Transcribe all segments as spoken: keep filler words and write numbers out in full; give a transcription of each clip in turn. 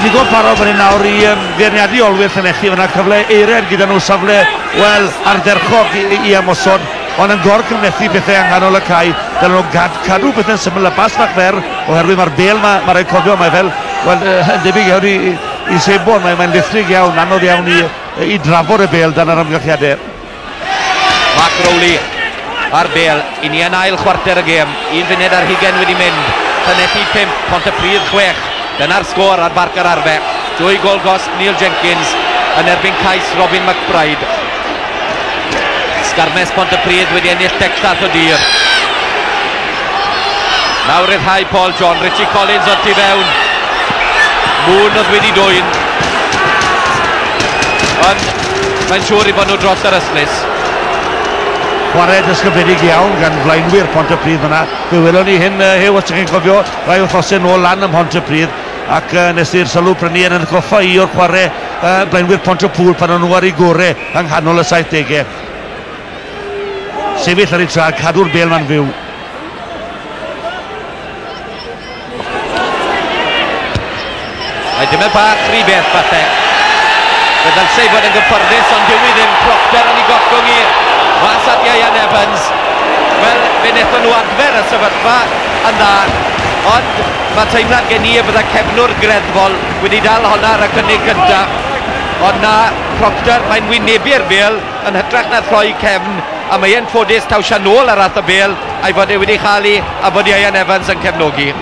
ni'n digon parod fan hyn nawr i um, feirniadu olwyr Llanelli. Fyna cyfle eiraid gyda nhw, safle, wel, ardderchog i, i ymosod, ond yn gorgymlethu pethau yng nghanol y cae. Dylen nhw gad, cadw pethau'n syml a bas fach fer, oherwydd mae'r bel ma, mae rhaid cofio, mae fel, wel, yn debyg iawn i, i, i sebon, mae'n mae lithrig iawn, anodd iawn i, i drafod y bel dan yr amgylchiadau. Mark Rowley a'r bel, i ni yn ail chwarter y gêm, un funud ar hugain wedi mynd, Llanelli pump, Pontypridd chwech, dyna'r sgôr ar Barc yr Arfe. Dwy gol gost Neil Jenkins yn erbyn cais Robin McBride. Sgarmes Pontypridd wedi ennill deg llath o dir. Nawr ryddhau Paul John, Richie Collins o'r tu fewn. Moon oedd wedi dwyn. Ond mae'n siŵr i bod nhw dros yr ystlys. Chwarae dysgyfedig iawn gan flaenwyr Pontypridd fyna. Fe welon ni hyn, uh, Huw, os ydych chi'n cofio, rai wythnosau nôl lan ym Mhontypridd, ac uh, nes i'r sylw prynu yn atgoffa i o'r chwarae uh, blaenwyr Pontypŵl pan o'n nhw ar eu gorau yng nghanol y saithdegau. Sefyll ar ei traed, cadw'r bel ma'n fyw. Mae dim yn bach rhy beth falle. Fe ddylse i fod yn gyfforddus, ond dyw i ddim. Proctor yn ei gollwng i mas at Ieuan Evans. Wel, fe wnaethon nhw adfer y sefyllfa yn dda, ond mae teimlad gen i y bydda cefnwr greddfol wedi dal honna ar y cynnig cyntaf. Ond na, Proctor, mae'n wynebu'r bel yn hytrach na throi cefn, a mae e'n ffodus taw nôl ar ath y bel, a'i fod e wedi chael ei, a bod Ieuan Evans yn cefnogi.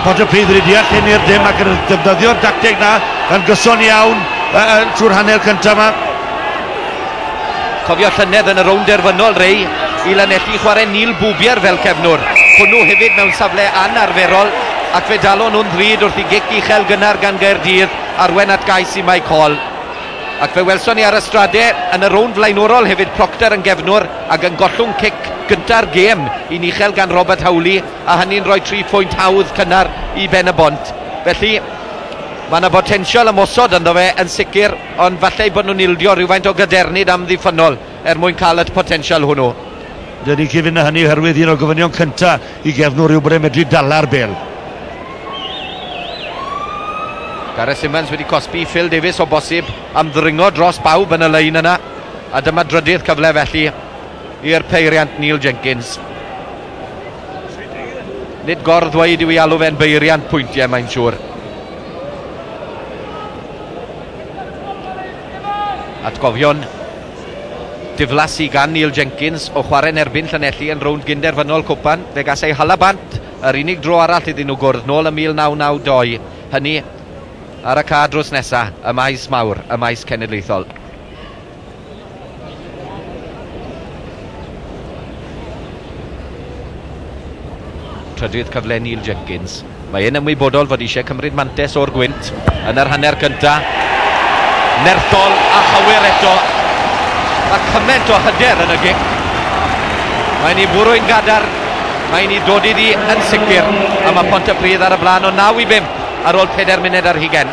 Pontypridd wedi deall hyn i'r dim ac yn defnyddio'r dacteg na yn gyson iawn uh, trwy'r hanner cyntaf yma. Cofio llynedd yn y rownd derfynol, Rei, i Lanelli chwarae Neil Bwbier fel cefnwr. Hwnnw hefyd mewn safle anarferol, ac fe dalon nhw'n ddrud wrth i gic uchel gynnar gan Gaerdydd arwen at gais i Mike Hall. Ac fe welson ni ar y strade yn y rownd flaenorol hefyd Proctor yn gefnwr ac yn gollwng cic gynta'r gêm i'n uchel gan Robert Howley, a hynny'n rhoi tri phwynt hawdd cynnar i Ben y Bont. Felly, mae yna botensial ymosod ynddo fe yn sicr, ond falle bod nhw'n ildio rhywfaint o gadernid amddiffynnol er mwyn cael y potensial hwnnw. Dyn ni'n cyfyn hynny oherwydd un o'r gofynion cyntaf i gefnwr yw bod e'n medru dala'r bel. Gareth Simmons wedi cosbi Phil Davies o bosib am ddringo dros bawb yn y lein yna, a dyma drydydd cyfle felly i'r peiriant Neil Jenkins. Nid gorddweud yw i alw fe'n beiriant pwyntiau, mae'n siŵr. Atgofion diflas i gan Neil Jenkins o chwarae'n erbyn Llanelli yn rownd gynderfynol cwpan. Fe gas ei hala bant, yr unig dro arall iddyn nhw gwrdd nôl ym mil naw naw dau. Hynny ar y ca drws nesa, y maes mawr, y maes cenedlaethol. Trydydd cyfle Neil Jenkins. Mae e'n ymwybodol fod eisiau cymryd mantes o'r gwynt yn yr hanner cynta. Nerthol a chywir eto. Mae cymaint o hyder yn y gic. Mae'n ei bwrw'n gadar, mae'n ei dod iddi yn sicr, a mae Pontypridd ar y blaen o naw i bump ar ôl pedair munud ar hugain.